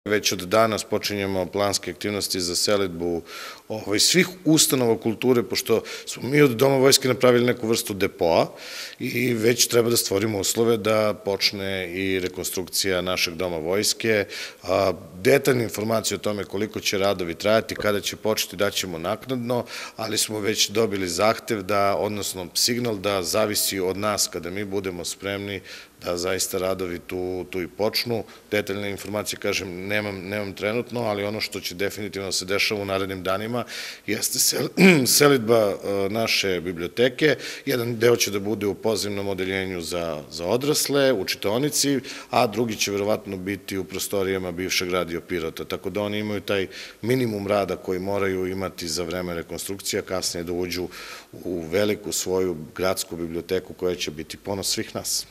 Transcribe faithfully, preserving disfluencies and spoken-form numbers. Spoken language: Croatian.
Već od danas počinjemo planske aktivnosti za selidbu svih ustanova kulture, pošto smo mi od Doma vojske napravili neku vrstu depoa i već treba da stvorimo uslove da počne i rekonstrukcija našeg Doma vojske. Detaljne informacije o tome koliko će radovi trajati, kada će početi, daćemo naknadno, ali smo već dobili zahtev da, odnosno signal da zavisi od nas kada mi budemo spremni da zaista radovi tu i počnu. Detaljne informacije, kažem, nemam trenutno, ali ono što će definitivno se dešava u narednim danima jeste selidba naše biblioteke. Jedan deo će da bude u pozivnom odeljenju za odrasle, u čitaonici, a drugi će verovatno biti u prostorijama bivšeg Radio Pirota. Tako da oni imaju taj minimum rada koji moraju imati za vreme rekonstrukcija, kasnije da uđu u veliku svoju gradsku biblioteku koja će biti ponos svih nas.